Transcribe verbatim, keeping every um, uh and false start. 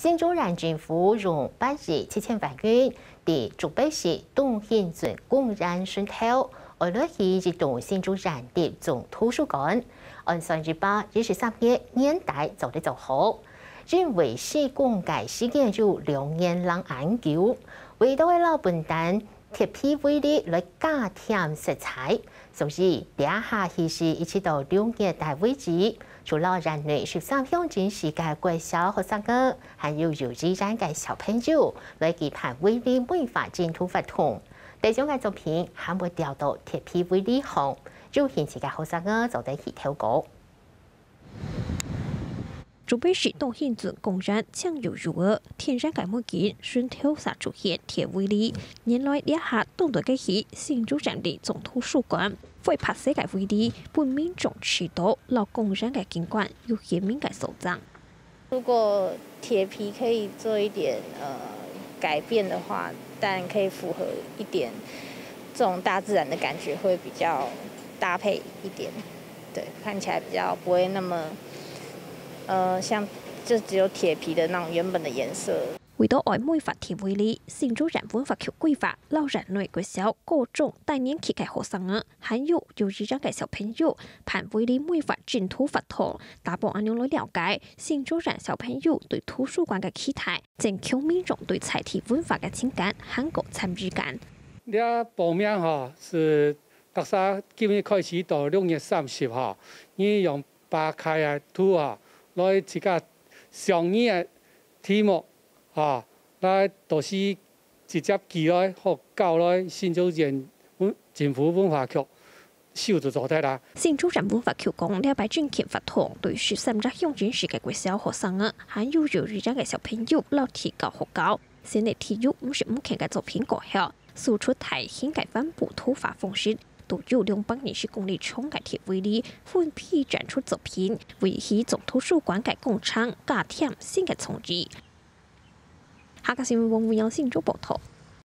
新竹縣政府用八億七千萬元，在竹北市東興鎮公園脣頭，愛來起一棟新竹縣立總圖書館，按算一百一十三年年底做得做好。因為施工个時間有兩年零恁久，為著愛摎本旦 鐵皮圍籬來加添色彩。所以，這下起勢一直到六月底為止，除了縣內十三鄉鎮市个國小學生仔，還有幼稚園个小朋友來舉辦圍籬繪畫競圖活動。得獎个作品還會吊到鐵皮圍籬項，有興趣个學生仔做得去投稿。 竹北市東興鎮公園青油油仔，天然个環境，脣頭煞出現鐵圍籬。原來這下當代个係新竹縣立總圖書館，會白色个圍籬，分民眾知著摎公園个景觀有鮮明个相像。如果鐵皮可以做一點，呃，改變的話，但可以符合一點這種大自然的感覺，會比較搭配一點。 對，看起來比較不會那麼，呃，像就只有鐵皮的那種原本的顏色。為著愛美化鐵圍籬，新竹縣文化局規劃，摎縣內國小、高中低年級个學生仔，還有幼稚園个小朋友，辦圍籬美化競圖活動，打幫恁樣來了解新竹縣小朋友對圖書館个期待，增強民眾對在地文化个情感，還過參與感。這報名吼，係 逐儕今日開始到六月三十吼，你用八開个圖吼，來自家想你个題目吼，來到時直接寄來，好交來新竹縣文，政府文化局收就做得啦。新竹縣文化局講，這擺徵件活動對十三隻鄉鎮市个國小學生仔，還有幼稚園个小朋友，摎地教學校，選擇地有五十五間个作品過後， 輸出大型个帆布圖畫方式，都有兩百二十公里長个鐵圍籬，分批展出作品，為起總圖書館个廣場加添新个創意。客家新聞黃文陽新竹報導。